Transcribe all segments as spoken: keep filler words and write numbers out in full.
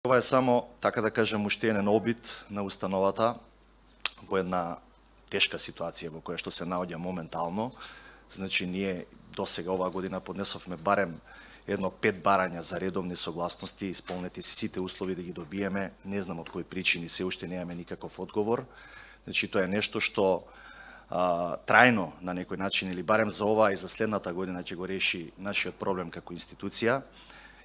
Ова е само, така да кажем, уште еден обид на установата во една тешка ситуација во која што се наоѓа моментално. Значи, ние досега оваа година поднесовме барем едно пет барања за редовни согласности, исполнети сите услови да ги добиеме. Не знам од кои причини, се уште немаме никаков одговор. Значи, тоа е нешто што а, трајно на некој начин, или барем за ова и за следната година ќе го реши нашиот проблем како институција.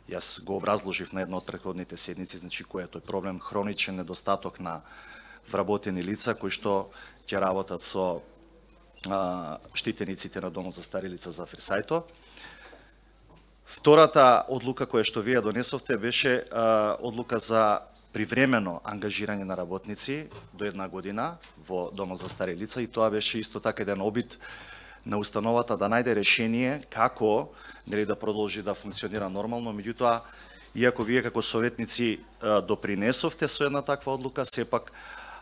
Јас го образложив на една од претходните седници, значи кој е тој проблем, хроничен недостаток на вработени лица кои што ќе работат со а, штитениците на Домот за стари лица за Фрисајто. Втората одлука која што вие донесовте беше а, одлука за привремено ангажирање на работници до една година во Домот за стари лица, и тоа беше исто така еден обид на установата да најде решение како нели да продолжи да функционира нормално. Меѓутоа, иако вие како советници а, допринесовте со една таква одлука, сепак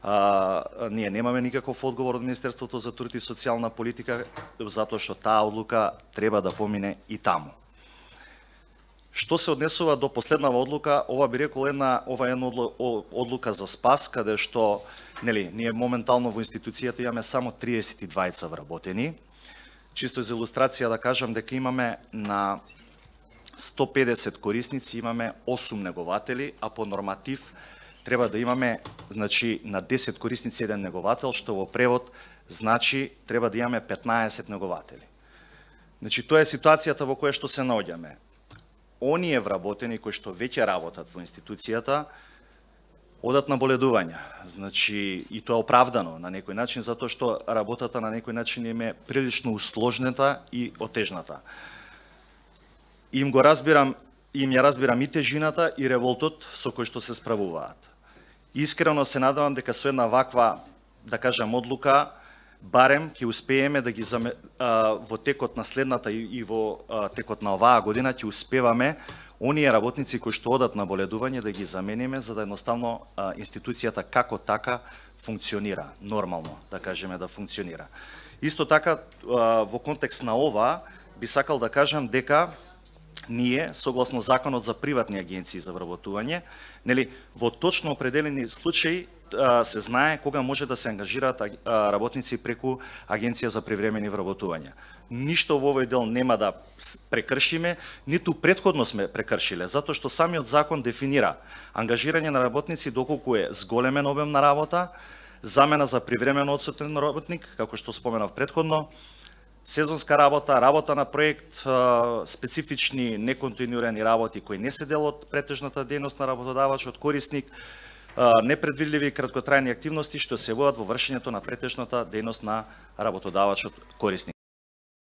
а, ние немаме никаков одговор од Министерството за труд и социјална политика, затоа што таа одлука треба да помине и таму. Што се однесува до последнава одлука, ова би рекол една ова е една одлука за спас, каде што нели ние моментално во институцијата имаме само триесет и двајца вработени. Чисто за илустрација да кажам дека имаме на сто педесет корисници имаме осум негователи, а по норматив треба да имаме, значи, на десет корисници еден неговател, што во превод значи треба да имаме петнаесет негователи. Значи, тоа е ситуацијата во која што се наоѓаме. Оние вработени кои што веќе работат во институцијата одат на боледување. Значи, и тоа е оправдано на некој начин, затоа што работата на некој начин им е прилично усложнета и отежната. Им го разбирам, им ја разбирам и тежината и револтот со кој што се справуваат. Искрено се надевам дека со една ваква, да кажам, одлука, барем ќе успееме да ги заме, а, во текот на следната и, и во а, текот на оваа година ќе успеваме оние работници кои што одат на боледување да ги замениме, за да едноставно а, институцијата како така функционира нормално, да кажеме да функционира. Исто така а, во контекст на ова би сакал да кажам дека ние, согласно Законот за приватни агенции за вработување, нели, во точно определени случаи се знае кога може да се ангажираат работници преку Агенција за привремени вработувања. Ништо во овој дел нема да прекршиме, ниту претходно сме прекршиле, затоа што самиот закон дефинира ангажирање на работници доколку е зголемен обем на работа, замена за привремено одсутен работник, како што споменав претходно, сезонска работа, работа на проект, специфични неконтинуирани работи кои не се дел од претежната дејност на работодавачот, корисник, непредвидливи краткотрајни активности што се водат во вршењето на претежната дејност на работодавачот корисник.